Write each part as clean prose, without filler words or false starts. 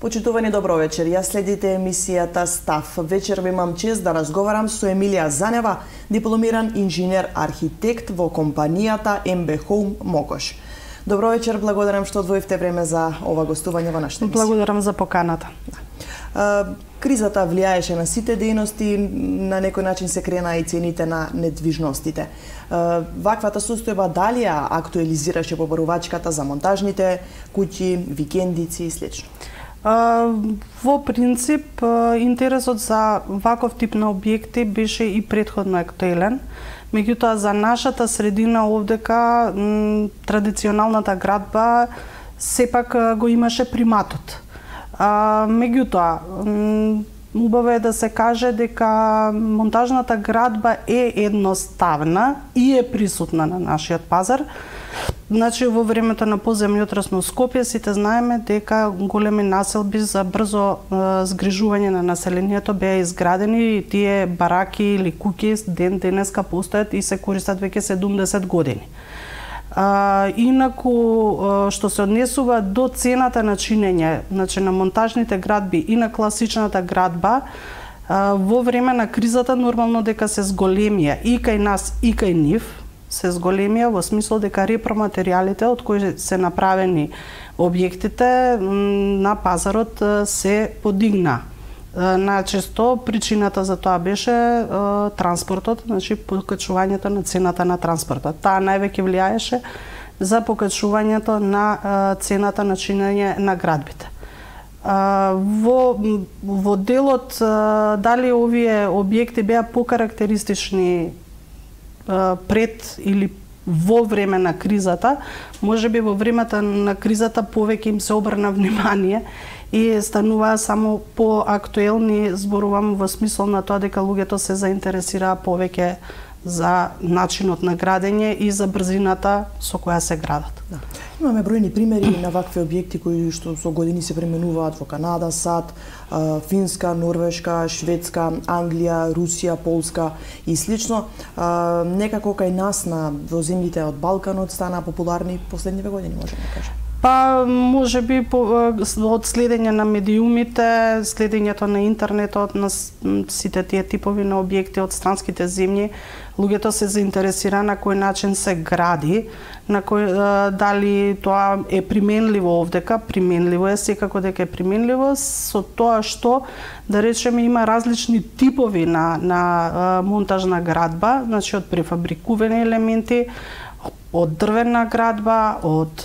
Почитувани, добро вечер. Ја следите емисијата Став. Вечерва имам чест да разговарам со Емилија Занева, дипломиран инженер-архитект во компанијата MB Home Мокош. Добро вечер, благодарам што одвоивте време за ова гостување во нашата емисија. Благодарам за поканата. Кризата влијаеше на сите дејности, на некој начин се крена и цените на недвижностите. Ваквата состојба дали ја актуализираше побарувачката за монтажните куќи, викендици и слично? Во принцип, интересот за ваков тип на објекти беше и претходно актуелен. Меѓутоа, за нашата средина овдека, традиционалната градба сепак го имаше приматот. Меѓутоа, убаво е да се каже дека монтажната градба е едноставна и е присутна на нашиот пазар. Значи, во времето на поземјотрес во Скопје сите знаеме дека големи населби за брзо згрижување на населението беа изградени и тие бараки или куќи денеска постојат и се користат веќе 70 години. Инаку, што се однесува до цената на чинење, значи на монтажните градби и на класичната градба, во време на кризата нормално дека се зголемија и кај нас и кај нив, се зголемија во смисол дека репроматеријалите од кои се направени објектите на пазарот се подигна. Најчесто причината за тоа беше транспортот, значи покачувањето на цената на транспортот. Таа највеќе влијаеше за покачувањето на цената на чинење на градбите. Во делот дали овие објекти беа покарактеристични пред или во време на кризата, можеби во времето на кризата повеќе им се обрна внимание и стануваа само поактуелни, зборувам во смисол на тоа дека луѓето се заинтересираа повеќе за начинот на градење и за брзината со која се градат. Да. Имаме бројни примери на вакви објекти кои што со години се применуваат во Канада, САД, Финска, Норвешка, Шведска, Англија, Русија, Полска и слично. Некако кај нас во земјите од Балканот стана популарни последниве години, можеме да кажеме. Па, можеби од следење на медиумите, следењето на интернетот, на сите тие типови на објекти од странските земји, луѓето се заинтересира на кој начин се гради, на дали тоа е применливо овдека, применливо е, секако дека е применливо, со тоа што, да речеме, има различни типови на монтажна градба, значи од префабрикувани елементи, од дрвена градба, од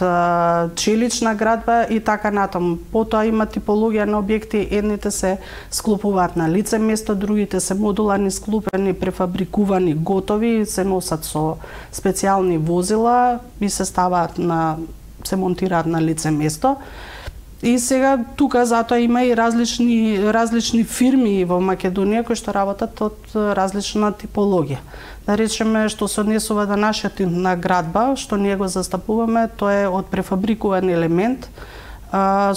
челична градба и така натаму. Потоа има типологија на објекти, едните се склопуваат на лице место, другите се модуларни, склопени, префабрикувани, готови, се носат со специјални возила и се ставаат се монтираат на лице место. И сега тука затоа има и различни фирми во Македонија кои што работат од различна типологија. Да речеме, што се однесува до нашиот тип на градба, што ние го застапуваме, тоа е од префабрикуван елемент,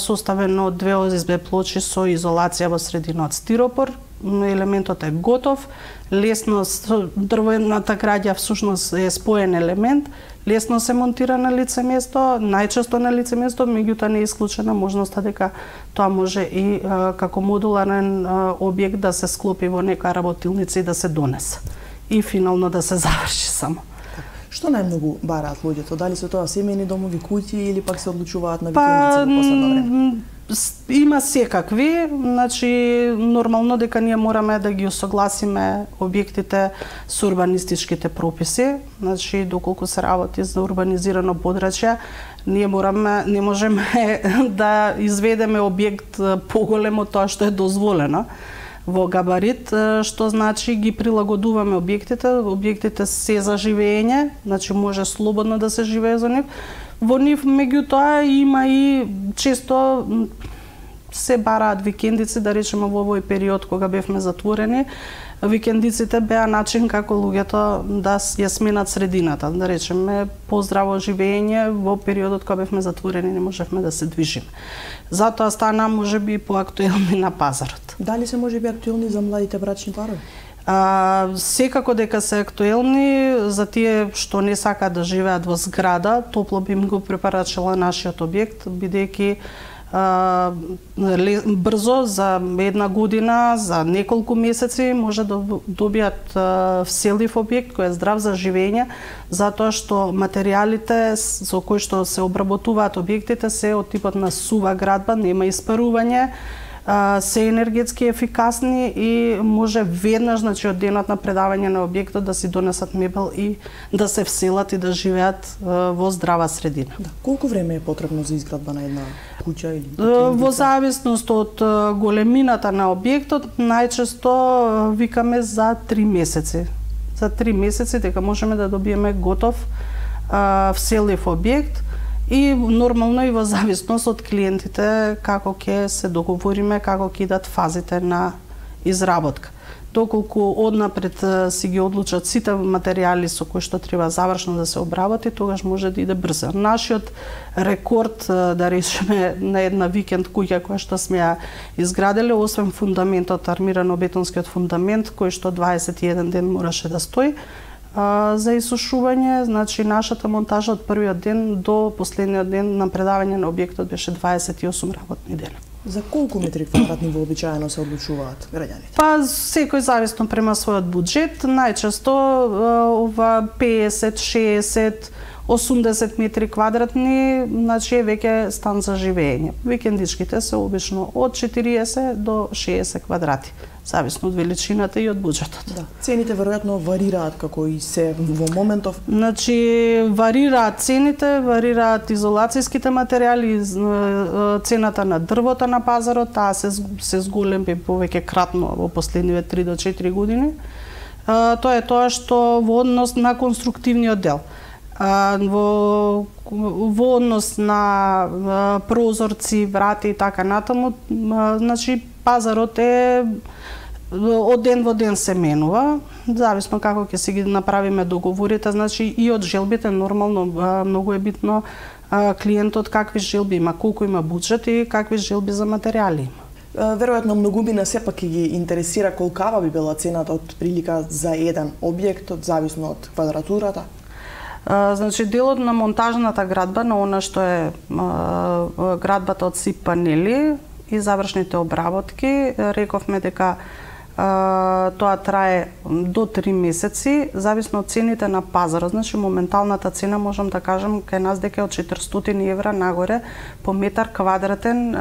составен од 2 ОСБ плочи со изолација во средина од стиропор. Елементот е готов, лесно дрвената граѓа всушност е споен елемент, лесно се монтира на лице место, најчесто на лице место, меѓутоа не е исклучена можноста дека тоа може и како модуларен објект да се склопи во нека работилница и да се донесе. И финално да се заврши само. Што најмногу бараат луѓето? Дали се тоа семејни домови, куќи или пак се одлучуваат на викендици во последно време? Има секакви, значи нормално дека ние мораме да ги усогласиме објектите со урбанистичките прописи, значи доколку се работи за урбанизирано подрачје, ние не можеме да изведеме објект поголем од тоа што е дозволено во габарит, што значи ги прилагодуваме објектите се за живење, значи може слободно да се живее за нив. Во нив, меѓутоа, има и често се бараат викендици, да речеме во овој период кога бевме затворени, викендиците беа начин како луѓето да ја сменат средината, да речеме поздраво живење во периодот кога бевме затворени, не можевме да се движиме. Затоа стана можеби поактуелни на пазарот. Дали се можеби актуелни за младите брачни парови? Секако дека се актуелни за тие што не сакаат да живеат во зграда, топло би им го препорачала нашиот објект, бидејќи брзо за една година, за неколку месеци може да добијат вселив објект кој е здрав за живење, затоа што материјалите со кои што се обработуваат објектите се од типот на сува градба, нема испарување, се енергетски ефикасни и може веднаш, значи од денот на предавање на објектот да си донесат мебел и да се вселат и да живеат во здрава средина. Да. Колку време е потребно за изградба на една куќа или во зависност од големината на објектот, најчесто викаме за 3 месеци. За 3 месеци дека можеме да добиеме готов вселив објект. И нормално и во зависност од клиентите како ќе се договориме, како ќе идат фазите на изработка. Доколку однапред си ги одлучат сите материјали со кои што треба завршно да се обработи, тогаш може да иде брзо. Нашиот рекорд, да речеме, на една викенд куќа која што сме ја изградиле, освен фундаментот, армирано-бетонскиот фундамент, кој што 21 ден мораше да стои, за исушување, значи нашата монтажа од првиот ден до последниот ден на предавање на објектот беше 28 работни дена. За колку метри квадратни вообичаено се одлучуваат граѓаните? Па секој зависно према својот буџет, најчесто ова 50, 60, 80 метри квадратни, значи е веќе стан за живење. Викендичките се обично од 40 до 60 квадрати, зависно од величината и од буџетот. Да. Цените веројатно варираат како и се во моментов. Значи варираат цените, варираат изолацијските материјали, цената на дрвото на пазарот, таа се зголеми повеќе кратно во последниве 3 до 4 години. Тоа е тоа што во однос на конструктивниот дел. Во однос на прозорци, врати и така натаму, значи пазарот е од ден во ден се менува, зависно како ќе си ги направиме договорите, значи и од желбите нормално многу е битно клиентот какви желби има, колку има буџет и какви желби за материјали има. Веројатно многумина сепак ќе ги интересира колкава би била цената од прилика за еден објект, зависно од квадратурата. Значи делот на монтажната градба, на она што е градбата од СИП панели и завршните обработки, рековме дека тоа трае до 3 месеци, зависно од цените на пазарот. Значи моменталната цена можам да кажам кај нас дека е од 400 евра нагоре по метар квадратен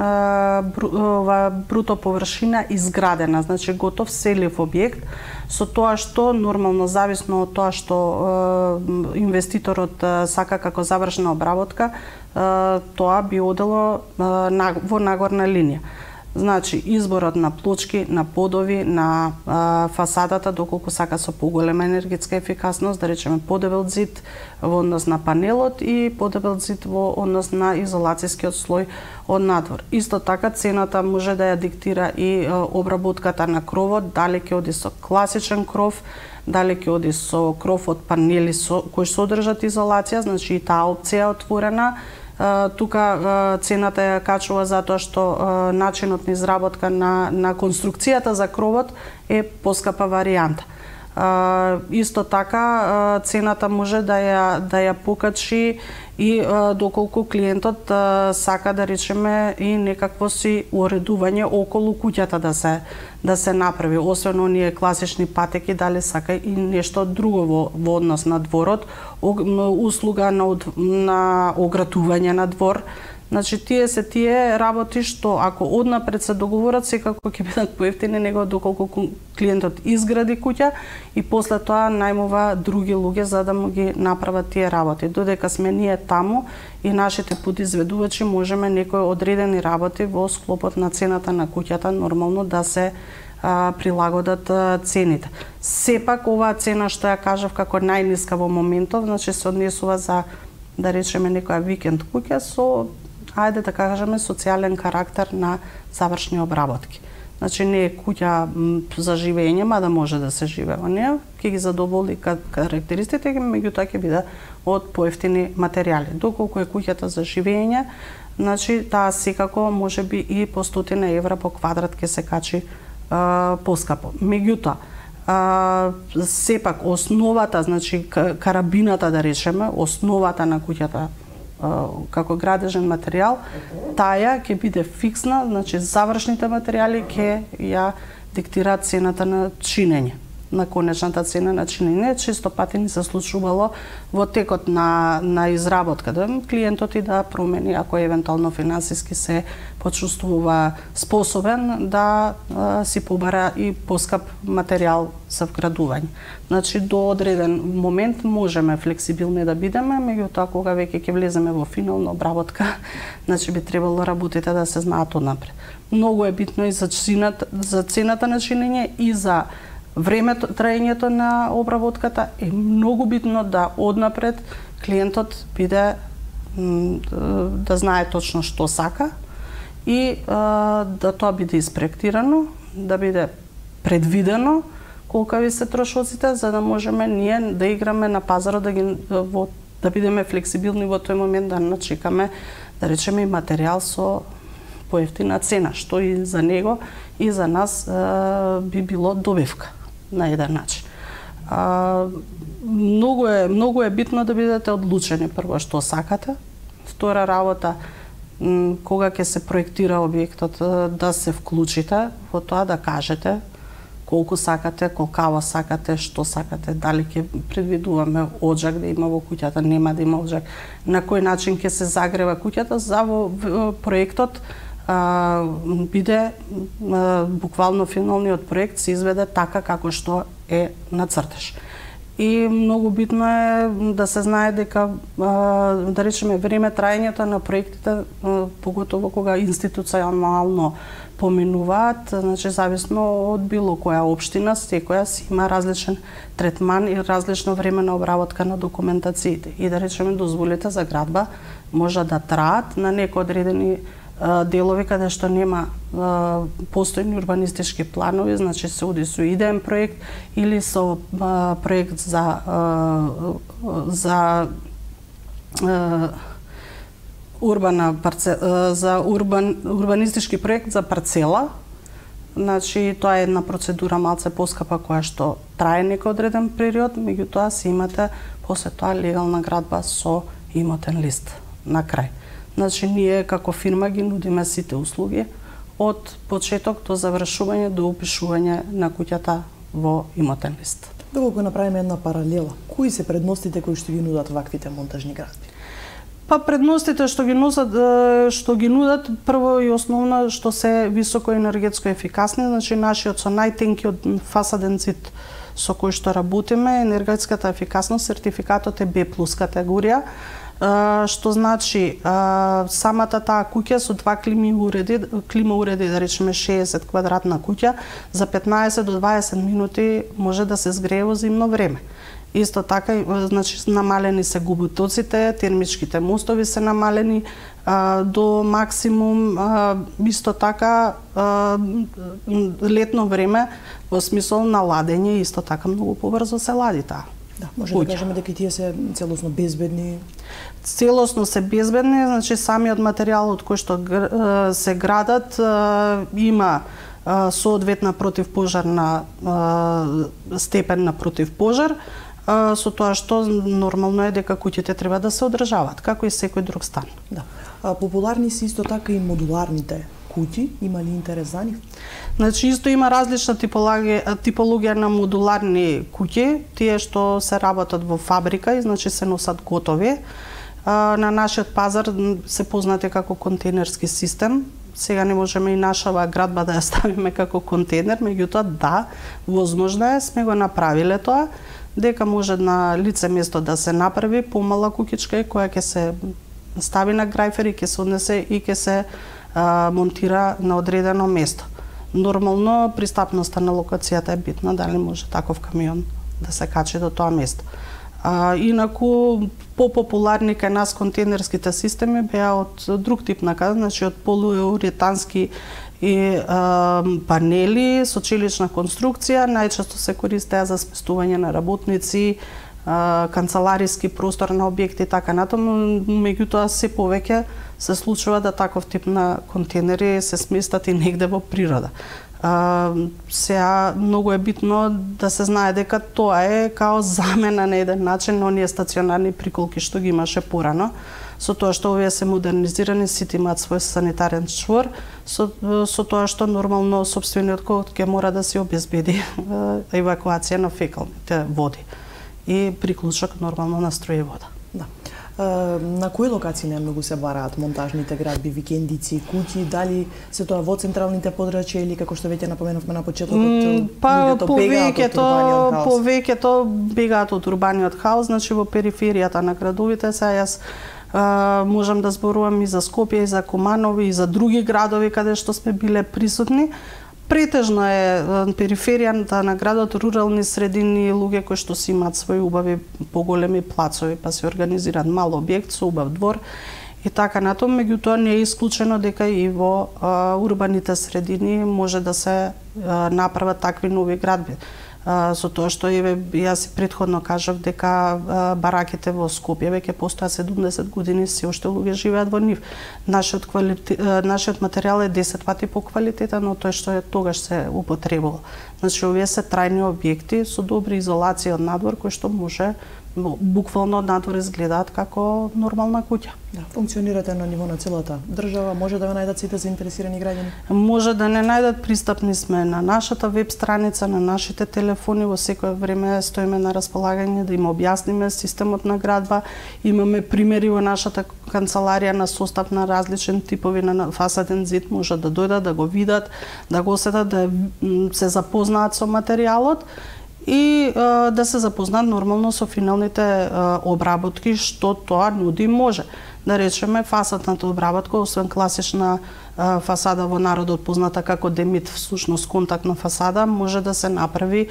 бруто површина изградена, значи готов селив објект, со тоа што нормално зависно од тоа што инвеститорот сака како завршена обработка, тоа би одело во нагорна линија. Значи, изборот на плочки, на подови, на фасадата, доколку сака со поголема енергетска ефикасност, да речеме подебел зид во однос на панелот и подебел зид во однос на изолацијскиот слој од надвор. Исто така, цената може да ја диктира и обработката на кровот, дали ќе оди со класичен кров, дали ќе оди со кров од панели кои содржат изолација, значи и таа опција е отворена. Тука цената ја качува затоа што начинот на изработка на конструкцијата за кровот е поскапа варијанта. Исто така цената може да ја покачи и доколку клиентот сака да речеме и некакво си уредување околу куќата да се направи, освен оние класични патеки, дали сака и нешто друго во однос на дворот, услуга на огратување на двор. Значи, тие работи што ако однапред се договорат, секако ќе бидат поевтини него доколку клиентот изгради куќа и после тоа најмува други луѓе за да му ги направат тие работи. Додека сме ние таму и нашите подизведувачи можеме некои одредени работи во склопот на цената на куќата нормално да се прилагодат цените. Сепак оваа цена што ја кажав како најниска во моментов, значи се однесува за, да речеме, некоја викенд куќа со, ајде да кажеме, социјален карактер на завршни обработки. Значи не е куќа за живење, мада може да се живее во неја, ќе ги задоволи карактеристиките, меѓутоа ќе биде од поевтини материјали. Доколку е куќата за живење, значи таа секако можеби и по 100 евра по квадрат ќе се качи поскапо. Меѓутоа, сепак основата, значи карабината да речеме, основата на куќата како градежен материјал, таа ќе биде фиксна, значи завршните материјали ќе ја диктираат цената на чинење, на конечната цена на чинење. Често пати ни се случувало во текот на изработка да клиентот и да промени, ако евентуално финансиски се почувствува способен да си побара и поскап материјал за вградување. Значи до одреден момент можеме флексибилни да бидеме, меѓутоа кога веќе ќе влеземе во финална обработка, значи би требало работите да се знаат однапред. Многу е битно и за цената на чинење и за времето, траењето на обработката е многу битно да однапред клиентот биде да знае точно што сака и да тоа биде испроектирано, да биде предвидено колкави се трошоците, за да можеме ние да играме на пазарот, да бидеме флексибилни во тој момент, да начекаме, да речеме, и материјал со поевтина цена, што и за него и за нас би било добивка на еден начин. Многу е битно да бидете одлучени прво што сакате. Втора работа, кога ќе се проектира објектот, да се вклучите во тоа, да кажете колку сакате, колкаво сакате, што сакате, дали ќе предвидуваме оджак да има во куќата, нема да има оджак, на кој начин ќе се загрева куќата, за во проектот биде буквално финалниот проект се изведе така како што е на цртеж. И многу битно е да се знае дека, да речеме, време траењето на проектите, поготово кога институционално поминуваат, значи зависно од било која општина, секоја си има различен третман и различно време на обработка на документациите. И да речеме, дозволите за градба може да траат на некои одредени делови каде што нема постојни урбанистички планови, значи се оди со идеен проект или со проект за урбанистички проект за парцела. Значи тоа е една процедура малце поскапа која што трае некој одреден период, меѓутоа си имате после тоа легална градба со имотен лист на крај. Значи, ние како фирма ги нудиме сите услуги од почеток до завршување, до упишување на куќата во имотен лист. Доколку направиме една паралела, кои се предностите кои што ги нудат ваквите монтажни градби? Па предностите што ги нудат прво и основно што се високо енергетско ефикасни, значи нашиот со најтенкиот фасаден зид со кој што работиме, енергетската ефикасност, сертификатот е B+ категорија, што значи самата таа куќа со два клима уреди, да речеме 60 квадратна куќа, за 15 до 20 минути може да се згрее во зимно време. Исто така, значи намалени се губитоците, термичките мостови се намалени до максимум. Исто така летно време во смисол на ладење исто така многу побрзо се лади таа. Да, може да кажеме дека тие се целосно безбедни. Целосно се безбедни, значи самиот материјал од кој што се градат има соодветна противпожарна степен на противпожар, со тоа што нормално е дека куќите треба да се одржаваат, како и секој друг стан. Да. Популарни се исто така и модуларните куќи, има ли интерес за нив? Значи исто има различна типологија на модуларни куќи, тие што се работат во фабрика и значи се носат готови. На нашиот пазар се познати како контейнерски систем. Сега не можеме и нашава градба да ја ставиме како контейнер, меѓутоа да, возможно е, сме го направиле тоа, дека може на лице место да се направи помала куќичка која ќе се стави на грајфер и ќе се однесе и ќе се монтира на одредено место. Нормално пристапноста на локацијата е битна, дали може таков камион да се качи до тоа место. Инаку попопуларни кај нас контейнерските системи беа од друг тип накаде, значи од полууретански и панели со челична конструкција, најчесто се користеа за сместување на работници, канцелариски простор на објекти и така натаму, меѓутоа се повеќе се случува да таков тип на контейнери се сместат и негде во природа. Сега многу е битно да се знае дека тоа е као замена на еден начин на оние стационарни приколки што ги имаше порано. со тоа што овие се модернизирани, сите имаат свој санитарен чвор, со тоа што нормално сопствениот код ќе мора да се обезбеди евакуација на фекалните води и приклучок нормално на струја и вода. Да. На кои локации најмногу се бараат монтажните градби, викендици, куќи, дали се тоа во централните подрачја или како што веќе напоменавме на почетокот, повеќето бегаат од урбаниот хаос, значи во периферијата на градовите. Јас можам да зборувам и за Скопје, и за Куманови, и за други градови каде што сме биле присутни. Претежно е периферијата на градот, рурални средини, луѓе кои што си имаат своји убави поголеми плацови, па се организираат мал објект со убав двор и така натаму. Меѓутоа не е исклучено дека и во урбаните средини може да се направат такви нови градби. Со тоа што јас претходно кажав дека бараките во Скопје веќе постојат 70 години, се уште луѓе живеат во нив. Нашиот материјал е 10 пати по квалитетен од тој што е тогаш се употребувал. Значи овие се трајни објекти со добри изолации од надвор кои што може буквално од надвор изгледаат како нормална куќа. Да, функционирате на ниво на целата држава, може да ве најдат сите заинтересирани граѓани? Може да не најдат, пристапни сме на нашата веб страница, на нашите телефони, во секое време стоиме на располагање да им објасниме системот на градба. Имаме примери во нашата канцеларија на состав на различен типови на фасаден зид, може да дојдат, да го видат, да го осетат, да се запознаат со материјалот и да се запознаат нормално со финалните обработки, што тоа нуди може. Да речеме, фасадната обработка, освен класична фасада во народот позната како демит, всушност контактна фасада, може да се направи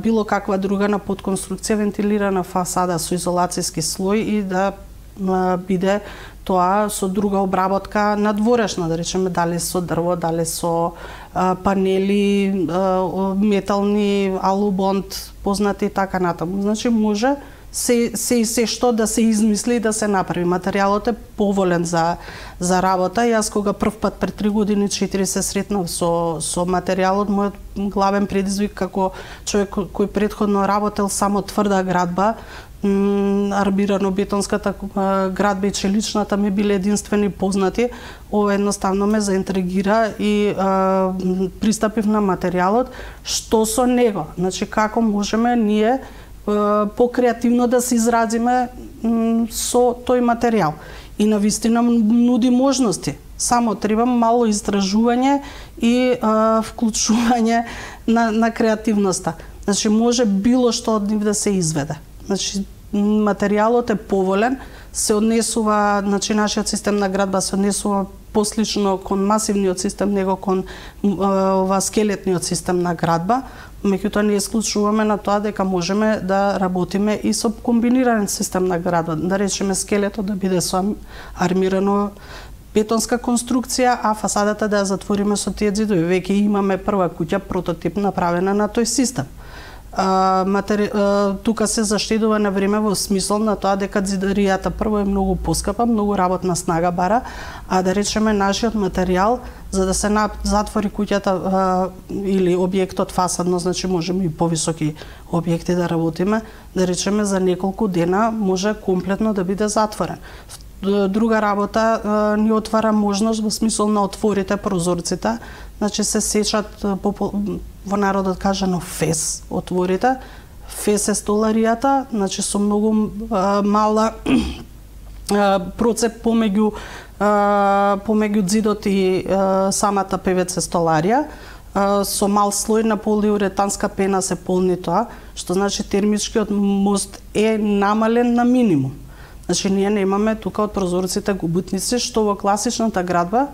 било каква друга на подконструкција, вентилирана фасада со изолацијски слој и да биде тоа со друга обработка надворешна, да речеме, дали со дрво, дали со панели, метални, алубонд, познати и така натаму. Значи може се што да се измисли и да се направи. Материјалот е поволен за работа. Јас кога прв пат пред 3 години 4 се сретнав со материјалот, мојот главен предизвик како човек кој претходно работел само тврда градба, армирано-бетонската градба и челичната ми биле единствени познати. Ова едноставно ме заинтригира и пристапив на материјалот, што со него. Значи како можеме ние покреативно да се изразиме со тој материјал. И навистина нуди можности. Само треба мало истражување и вклучување на креативноста. Значи може било што од нив да се изведе. Значи материјалот е поволен, се однесува, значи нашиот систем на градба се однесува послично кон масивниот систем него кон скелетниот систем на градба. Меѓутоа не исклучуваме на тоа дека можеме да работиме и со комбиниран систем на градба. Да речеме скелетот да биде со армирано бетонска конструкција, а фасадата да ја затвориме со тие ѕидови. Веќе имаме прва куќа прототип направена на тој систем. Тука се заштедува на време во смисол на тоа дека ѕидаријата прво е многу поскапа, многу работна снага бара, а да речеме нашиот материјал за да се затвори куќата или објектот фасадно, значи можеме и повисоки објекти да работиме, да речеме за неколку дена може комплетно да биде затворен. Друга работа ни отвара можност во смисол на отворите прозорците, значи се сечат во народот кажано фес отворите. Фес е столаријата, значи со многу мала процеп помеѓу ѕидот и самата ПВЦ столарија. Со мал слој на полиуретанска пена се полни тоа, што значи термичкиот мост е намален на минимум. Значи ние немаме тука од прозорците губутници, што во класичната градба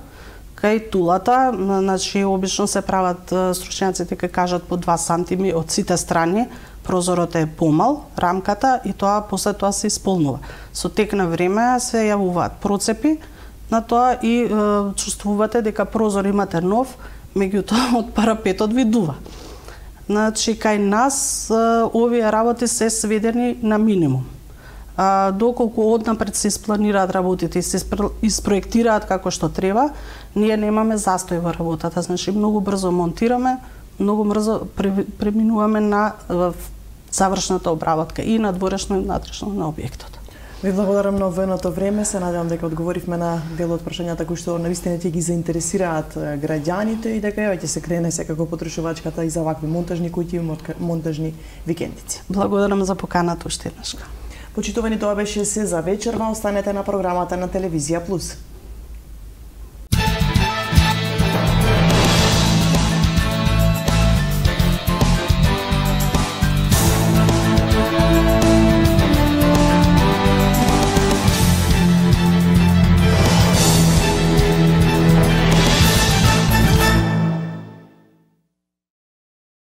кај тулата, значи обично се прават стручњаците кај кажат по 2 сантими од сите страни, прозорот е помал, рамката и тоа после тоа се исполнува. Со тек на време се јавуваат процепи на тоа и чувствувате дека прозор имате нов, меѓутоа од парапетот видува. Значи кај нас овие работи се сведени на минимум. Доколку однапред се испланираат работите и се испроектираат како што треба, ние немаме застој во работата. Значи многу брзо монтираме, многу брзо преминуваме на завршната обработка и надворешно и внатрешно на објектот. Ви благодарам на овоеното време, се надевам дека одговоривме на дел од прашањата кои што навистина ќе ги заинтересираат граѓаните и дека ќе се крене секако потрошувачката и за вакви монтажни куќи и монтажни викендици. Благодарам за поканата уште еднаш. Почитувани, тоа беше се за вечерва. Останете на програмата на Телевизија Плюс.